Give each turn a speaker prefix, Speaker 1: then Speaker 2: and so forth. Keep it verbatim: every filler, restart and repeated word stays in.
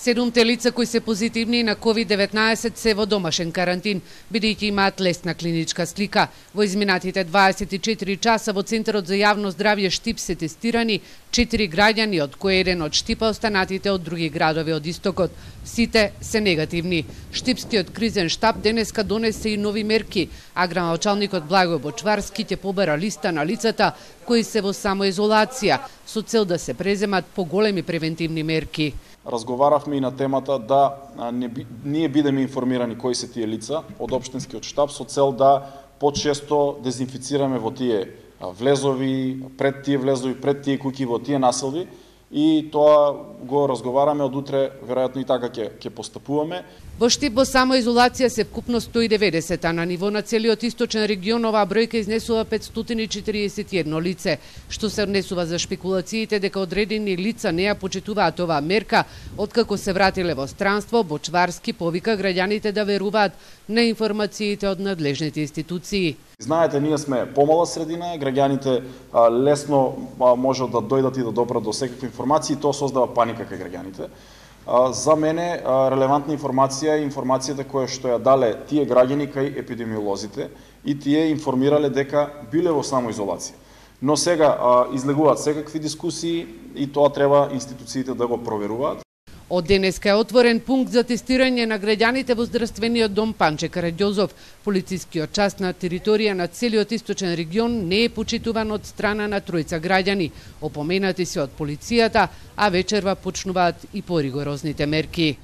Speaker 1: Седумте лица кои се позитивни на ковид деветнаесет се во домашен карантин, бидејќи имаат лесна клиничка слика. Во изминатите дваесет и четири часа во Центарот за јавно здравје Штип се тестирани четири граѓани, од кои еден од Штипа, останатите од други градови од истокот. Сите се негативни. Штипскиот кризен штаб денеска донесе и нови мерки, а градоначалникот Благој Бочварски ќе побера листа на лицата кои се во самоизолација, со цел да се преземат поголеми превентивни мерки.
Speaker 2: Разговаравме и на темата да не би, ние бидеме информирани кои се тие лица од општинскиот штаб со цел да почесто дезинфицираме во тие влезови, пред тие влезови, пред тие куќи, во тие населби, и тоа го разговараме од утре, веројатно и така ќе ќе постапуваме.
Speaker 1: Во Штип во самоизолација се вкупно сто и деветдесет, а на ниво на целиот источен регион оваа бројка изнесува петстотини и четириесет и едно лице, што се однесува за шпекулациите дека одредени лица не ја почитуваат оваа мерка. Откако се вратиле во странство, Бочварски повика граѓаните да веруваат на информациите од надлежните институции.
Speaker 2: Знаете, ние сме помала средина, граѓаните а, лесно а, можат да дојдат и да допрат до секакви информации, и тоа создава паника кај граѓаните. А, за мене а, релевантна информација е информацијата која што ја дале тие граѓани кај епидемиолозите, и тие информирале дека биле во самоизолација. Но сега а, излегуваат секакви дискусии и тоа треба институциите да го проверуваат.
Speaker 1: Од денеска е отворен пункт за тестирање на граѓаните во здравствениот дом Панче Караѓозов. Полицискиот час на територија на целиот источен регион не е почитуван од страна на тројца граѓани. Опоменати се од полицијата, а вечерва почнуваат и поригорозните мерки.